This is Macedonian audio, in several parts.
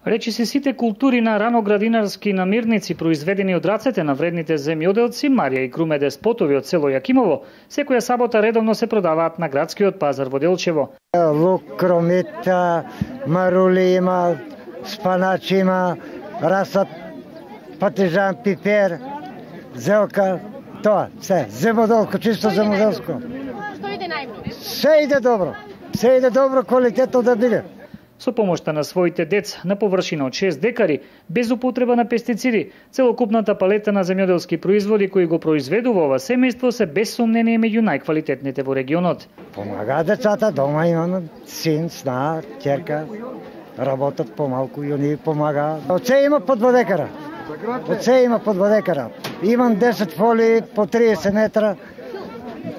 Речиси сите култури на раноградинарски намирници произведени од рацете на вредните земјоделци Марија и Круме Деспотови од село Јакимово, секоја сабота редовно се продаваат на градскиот пазар во Делчево. Лук, кромита, марули има, спаначи има, расат, патижан, пипер, зелка, тоа, се, земјоделско, чисто земјоделско. Што иде најмногу? Се иде добро. Се иде добро, квалитетно да биде. Со помошта на своите деца на површина од 6 декари, без употреба на пестициди, целокупната палета на земјоделски производи кои го произведува ова семејство се без сомнение меѓу најквалитетните во регионот. Помага децата, дома имам син, сна, ќерка, работат помалку и они помагаат. Од се има по 2 декара. Од се има по 2 декара. Имам 10 фолии по 30 метра.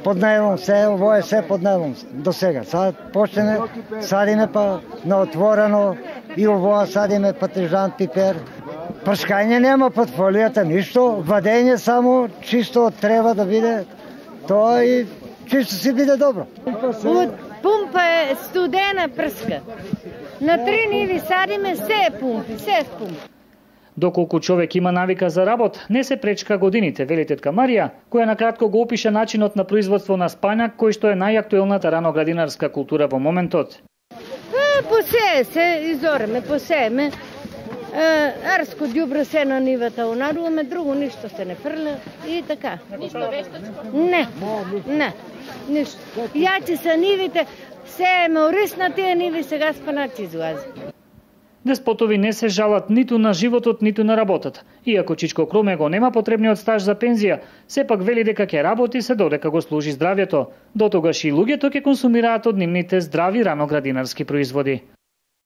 Под најлон се, ово е се под најлон до сега. Сад почне, садиме па на отворено и ово садиме патижан, пипер. Прскање нема под фолијата, ништо, вадење само, чисто треба да биде тоа и чисто си биде добро. Од пумпа е студена прска. На 3 ниви садиме, се е пумпи, се е пумпи. Доколку човек има навика за работ, не се пречка годините, вели тетка Марија, која накратко го опиша начинот на производство на спањак, кој што е најактуелната раноградинарска култура во моментот. Посее се, изореме, посееме. Арско ѓубре се на нивата унаруваме, друго ништо се не фрля и така. Ништо вештачко? Не, ништо. Јачи са нивите, сееме ориз на тие ниви, сега спаначи излази. Деспотови не се жалат ниту на животот, ниту на работата. Иако Чичко Круме го нема потребниот стаж за пензија, сепак вели дека ќе работи се додека го служи здравјето. Дотогаш и луѓето ќе консумираат од нивните здрави раноградинарски производи.